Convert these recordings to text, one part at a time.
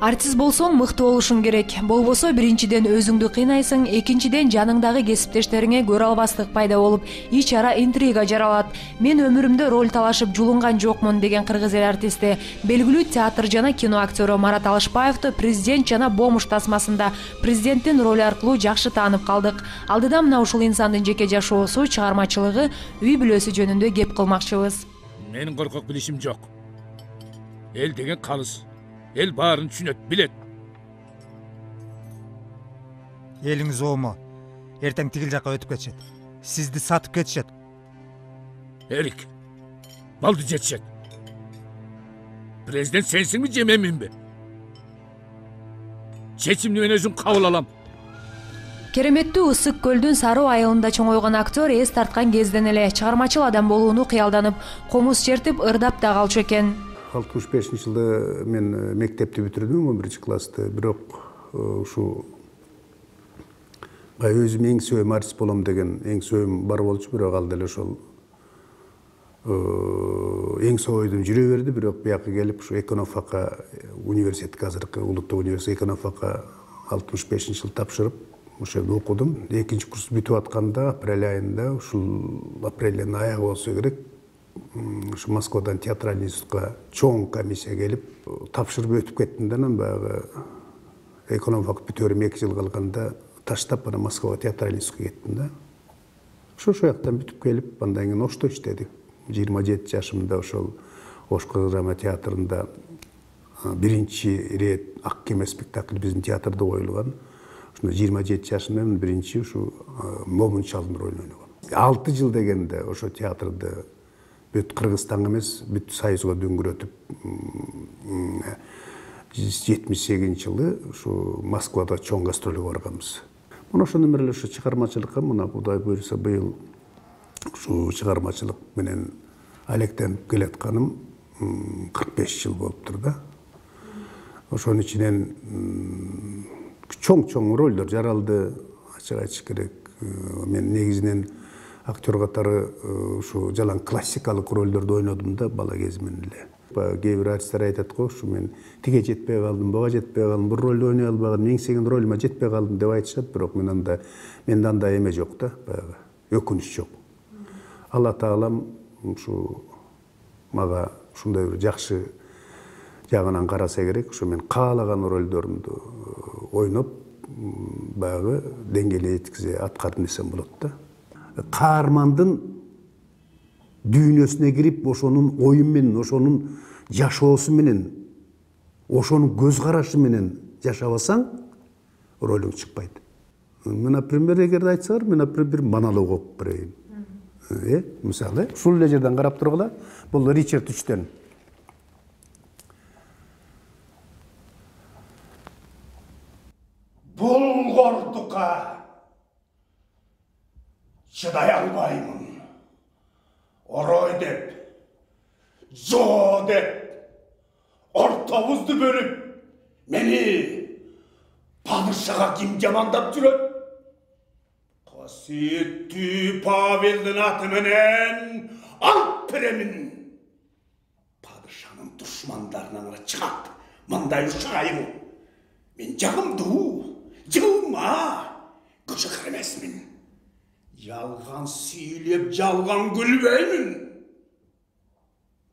Артист болсоң мыкты болушуң керек. Болбосо биринчиден өзүңдү кыйнайсың, экинчиден жаныңдагы кесиптештериңе көрө албастык пайда болуп, ич ара интрига жаралат. Мен өмүрүмдө роль талашып жулунган жокмун деген кыргыз эл артисти, белгилүү театр жана кино актёру Марат Алышбаевди Президент жана Бомуш тасмасында президенттин ролу аркылуу жакшы таанып калдык. Алдыда мына ушул инсандын жеке жашоосу, чыгармачылыгы, үй бүлөсү жөнүндө кеп кылмакчыбыз. Менин коркок билишим жок. Эл деген калыс. Эл баарын түшүнөт, билет. Элиңиз оому. Эртең тигил жакка өтүп кетишет. Сизди сатып кетишет. Эрик, балды жетишет. Президент сенсиңби же менминби? Чечимди мен өзүм кабыл алам. Кереметтүү Ысык көлдүн Саруу айылында чоңойгон актер эс тарткан кезден эле чыгармачыл адам болууну кыялданып, комуз чертип, ырдап да калчу экен. 65-жылы мен мектепти бүтүрдүм, 11 классты. Бирок ушу өзүм эң сүйөм артист болом деген эң сүйөм бар болчу, бирок ал деле ошол эң сойдум жүрө берди. Бирок бияка келип ушу экономфакка университетке, азыркы улуттук университет экономфакка 65-жылы тапшырып, ошол жерде окудум. Экинчи курс бүтүп атканда апрель айында, ушул апрелдин аягы болсо керек, ушу Москвадан театральный институтка чоң комиссия келип, тапшырып өтүп кеттим да, анан баягы экономфак бүтөрүм 2 жыл калганда таштап, ана Москвага театральный институтка кеттим да. Ошол жактан бүтүп келип, андан кийин Ошто иштедик. 27 жашымда ошол Ош драма театрында биринчи рет Ак кеме спектакли биздин театрда коюлган. Ошондо 27 жашымда мен биринчи ушу Момун чалдын ролун ойногом. 6 жыл дегенде ошо театрды бүт Кыргызстанга эмес, бүт Союзга дөңгөрөтүп, 78-жылы ушу Москвада чоң гастролго барганбыз. Мына ошондон бери эле ушу чыгармачылыкка, мына Кудай буйруса быйыл ушу чыгармачылык менен алектенип келатканым 45 жыл болуптур да. Ошонун ичинен чоң ролдор жаралды, ачык айтыш керек. Мен негизинен актер катары ушу жалаң классикалык ролдорду ойнодум да бала кезимден эле. Кээ бир артисттер айтат го, ушу мен тиге жетпей калдым, буга жетпей калдым, бир ролду ойной албаган, меңсеген ролума жетпей калдым деп айтышат, бирок менде андай эме жок да, баягы өкүнүч жок. Алла Таалам ушу мага ушундай бир жакшы жагынан караса керек, ушу мен каалаган ролдорумду ойноп, баягы деңгээлге жеткизе аткардым десем болот да. Каармандын дүйнөсүнө кирип, ошонун ою менен, ошонун жашоосу менен, ошонун көз карашы менен жашабасаң, ролуң чыкпайт. Мен, например, эгерде айтсаңар, мен, бир монолог окуп берейин. Мисалы, ушул эле жерден карап тургула, бул Ричард Үчтөн. Булгордукка чыдай албаймын. Орой деп, жо деп, ортобузду бөлүп, мени падышага ким жамандап жүрөт? Касиеттүү Павелдин аты менен алып беремин. Падышанын душмандарынан чыгат, мындай ушайым. Мен жагымдуу, жылма, кышыкыр эмесмин. Жалган сүйлөп, жалган күлбөймүн.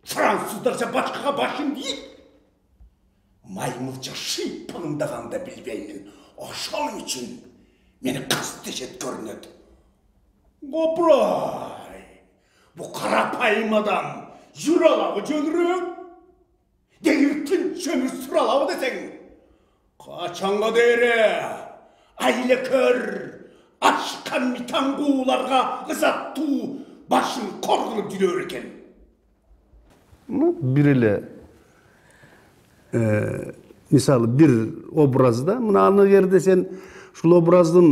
Француздарча башкага башым дейт. Маймылча шыйпаңдаганда билбеймин. Ошол үчүн мени кастешет көрүнөт. Опрай! Бу карапайым адам жүрө алабы жөнүрөөк? Дегиртин чөмүр сүрө алабы десең? Качанга дере айлекөр ашкан митаңгууларга ызаттуу башын коргулуп жүрөр экен. Бир эле мисалы бир образда, мына аны жерде сен ушул образдын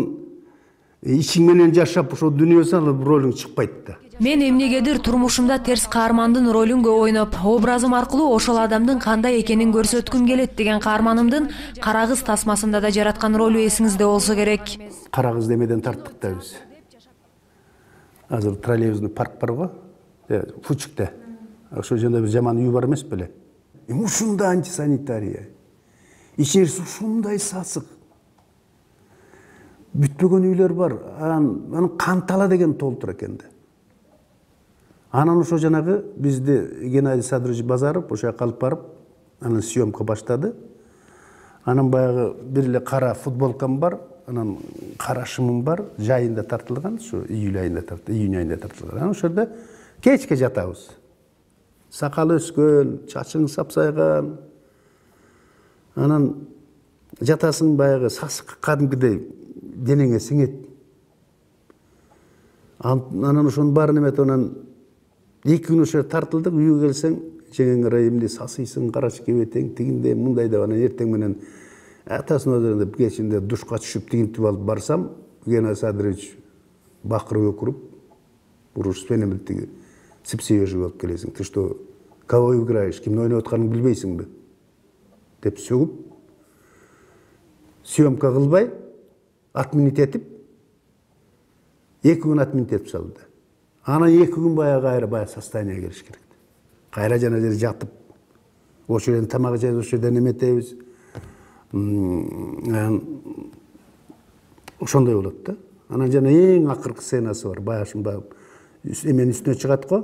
ичиң менен жашап, ошол дүйнөсүн алып ролуң чыкпайт да. Мен эмнегедир турмушумда терс каармандын ролун көп ойноп, образым аркылуу ошол адамдын кандай экенин көрсөткүм келет деген каарманымдын Кара кыз тасмасында да жараткан ролу эсиңизде болсо керек. Кара кыз демеден тарттык да биз. Азыр троллейбусный парк бар го, Фучукта. Ошол жерде бир жаман үй бар эмес беле? Ушунда антисанитария. ичерisi ушундай сасык. Бүтпөгөн үйлөр бар. Анан Кантала деген толтур экен да. Анан ошо жанагы бизди Геннадий Садырович Базаров ошо жака алып барып, анан съемка баштады. Анан баягы бир эле кара футболкам бар, анан кара шымым бар, жайында тартылган, ушу июль айында тартылган. Анан ошол кечке жатабыз. Сакал өскөн, чачың сапсайган. Анан жатасың баягы сасык кадимкидей денеңе сиңет. Анан ошонун баарын эметип анан 2 күн ошо тартылдык, үйгө келсең, жеңең райымды сасыйсың, карачы кебетең, тигинде мындай деп анан эртең менен атасынын өзүндө кечинде душка түшүп тигинтип алып барсам, Геннадий Садырович бакырып өкүрүп, уруш менен тиги сыпсыежи болуп келесиң. Ты что, кого играешь? Кимди ойноп атканыңды билбейсиңби? Деп сөгүп, съемка кылбай, отменить этип, 2 күн отменить этип салды. Анан 2 күн баягы состояние келиш керек. Кайра жана жер жатып, ошол жерден тамак жейбиз, ошол жерден эметебиз. Ошондой болот да. Анан жана эң акыркы сценасы бар. Баягы эменин үстүнө чыгат го.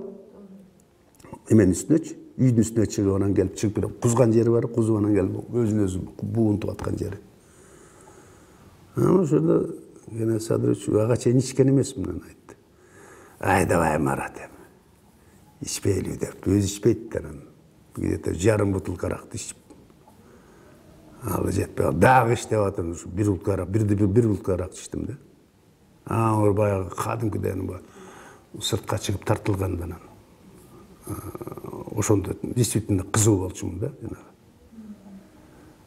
Эменин үстүнөчү, үйдүн үстүнө чыгып, анан келип чыгып, кузган жери бар, кузуп анан келип өзүн өзү буунтуп аткан жери. Анан ошондо Геннадий Садырович ага чейин ичкен эмесмин анан айтты. Ай давай, Марат, ичпейли деп, өзү ичпейт анан. Где-то жарым бутылка аракты ичип. Ал жетпей, дагы ич деп атам, бир бутылка арак ичтим да. Ар баягы кадимкидей сыртка чыгып тартылган анан. Ошондо действительно кызуу болчумун да, жанагы.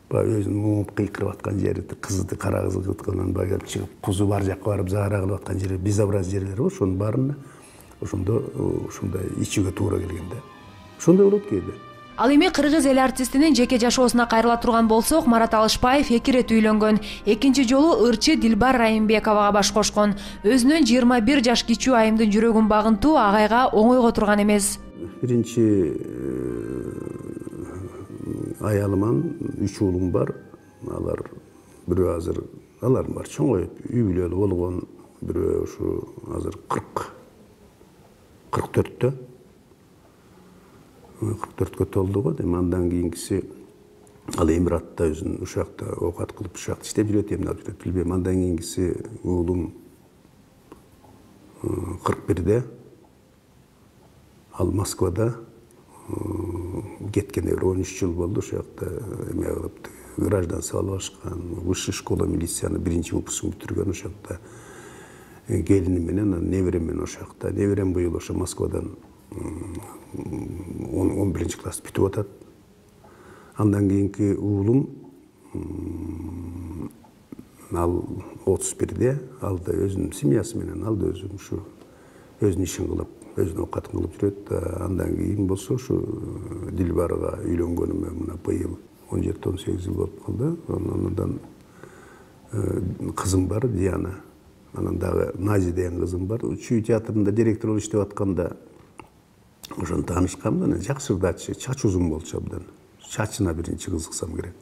Баягы өзүнүн муңуп кыйкырып аткан жери, кызды, кара кызды кыткандан баягы келип чыгып, кузу бар жакка барып заара кылып аткан жери, безобразие жерлери бар, ошонун баарына ошондо ушундай ичүүгө туура келген да. Ошондой болот кээде. Ал эми кыргыз эл артистинин жеке жашоосуна кайрыла турган болсок, Марат Алышбаев 2 ирет үйлөнгөн. Экинчи жолу ырчы Дилбар Райымбековага баш кошкон. Өзүнүн 21 жаш кичүү айымдын жүрөгүн багынтуу агайга оңойго турган эмес. Биринчи аялыман 3 уулум бар. Алар бирөө азыр, алар бар чоңоюп, үй бүлөлүү болгон, бирөө ушу азыр 44-тө. 44-кө толду го. Андан кийинкиси ал Эмиратта өзүнүн ушакта оокат кылып, ушакта иштеп жүрөт, эмне алып жүрөт билбейм. Андан кийинкиси уулум 41-де. Ал Москвада кеткене 13 жыл болду, ушакта эме кылып, гражданство алып ашкан, высшая школа милицияны 1-выпускын бүтүргөн, ушакта келини менен, неберем менен ошакта. Неберем быйыл ошо Москвадан 11 класс бүтүп атат. Андан кийинки уулум ал 31-де, ал да өзүнүн семьясы менен, ал да өзү ушу өзүнүн ишин кылып, өзүнүн оокатын кылып жүрөт. Андан кийин болсо ушу Дилбарга үйлөнгөнүмө мына быйыл 17-18 жыл болуп калды. Андан кызым бар, Диана. Анан дагы Нази деген кызым бар. Чүй театрында директор болуп иштеп атканда ошону таанышканбыз. Анан жакшы ырдачы, чачы узун болчу абдан. Чачына биринчи кызыксам керек.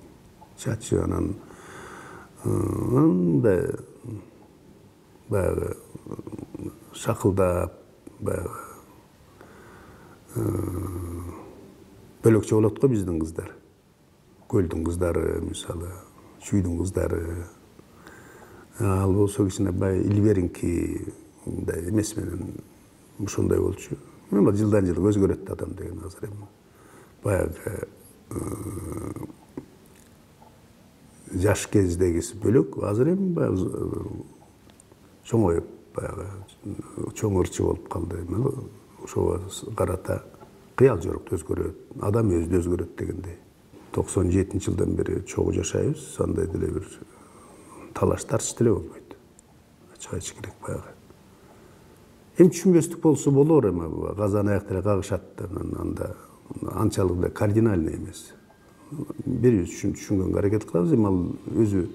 Чачы анан мындай баягы шакылдап, баягы бөлөкчө болот го биздин кыздар. Көлдүн кыздары, мисалы, чүйдүн кыздары. Ал болсо кичине бай илберинки мындай эмес менен ошондой болчу. Эми жылдан жылга өзгөрөт адам деген азыр эми. Баягы жаш кездегиси бөлөк, азыр эми баягы чоңоюп, баягы чоң ырчы болуп калды. Ошого карата кыял жорукту өзгөрөт, адам өзү өзгөрөт дегендей. 97-жылдан бери чогуу жашайбыз, андай деле бир талаш тартыш деле болбойт. Ачык айтыш керек баягы. Эми түшүнбөстүк болсо болор, эми казан аяк деле кагышат, анда анчалык да кардинальный эмес. Бирибиз түшүнгөнгө аракет кылабыз, эми ал өзү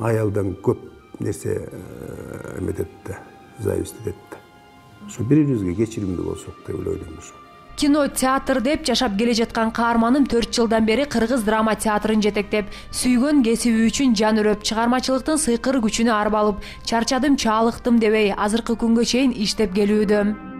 аялдан көп нерсе эметет да, зависть этет да. Ошо бирибизге кечиримдүү болсок деп ойлойм ошо. Кино, театр деп жашап келе жаткан каарманым 4 жылдан бери кыргыз драма театрын жетектеп, сүйгөн кесиби үчүн жан үрөп, чыгармачылыктын сыйкыр күчүнө арбалып, чарчадым, чаалыктым дебей азыркы күнгө чейин иштеп келүүдөм.